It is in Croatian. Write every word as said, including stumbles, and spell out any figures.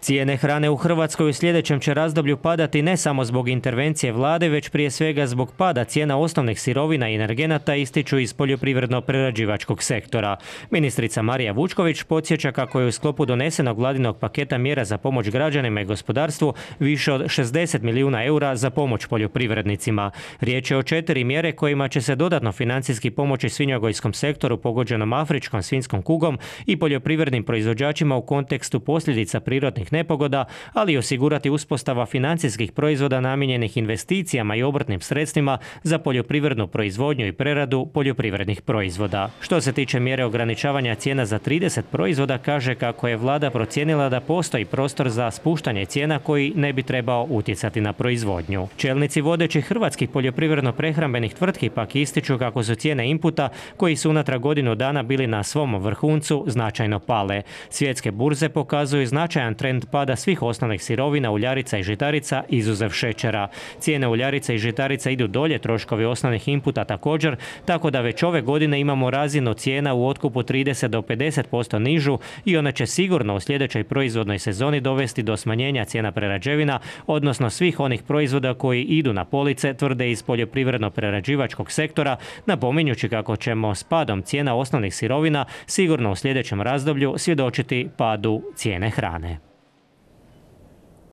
Cijene hrane u Hrvatskoj u sljedećem će razdoblju padati ne samo zbog intervencije vlade, već prije svega zbog pada cijena osnovnih sirovina i energenata, ističu iz poljoprivredno-prerađivačkog sektora. Ministrica Marija Vučković podsjeća kako je u sklopu donesenog vladinog paketa mjera za pomoć građanima i gospodarstvu više od šezdeset milijuna eura za pomoć poljoprivrednicima. Riječ je o četiri mjere kojima će se dodatno financijski pomoći svinjogojskom sektoru pogođenom afričkom svinjskom kugom i poljoprivrednim proizvođačima u kontekstu posljedica prirodnih nepogoda, ali i osigurati uspostava financijskih proizvoda namijenjenih investicijama i obrtnim sredstvima za poljoprivrednu proizvodnju i preradu poljoprivrednih proizvoda. Što se tiče mjere ograničavanja cijena za trideset proizvoda, kaže kako je vlada procijenila da postoji prostor za spuštanje cijena koji ne bi trebao utjecati na proizvodnju. Čelnici vodećih hrvatskih poljoprivredno-prehrambenih tvrtki pak ističu kako su cijene inputa, koji su unatrag godinu dana bili na svom vrhuncu, značajno pale. Svjetske burze pokazuju značajan trend pada svih osnovnih sirovina, uljarica i žitarica, izuzev šećera. Cijene uljarica i žitarica idu dolje, troškovi osnovnih inputa također, tako da već ove godine imamo razinu cijena u otkupu trideset do pedeset posto nižu i ona će sigurno u sljedećoj proizvodnoj sezoni dovesti do smanjenja cijena prerađevina, odnosno svih onih proizvoda koji idu na police, tvrde iz poljoprivredno-prerađivačkog sektora, napominjući kako ćemo s padom cijena osnovnih sirovina sigurno u sljedećem razdoblju svjedočiti padu cijene hrane.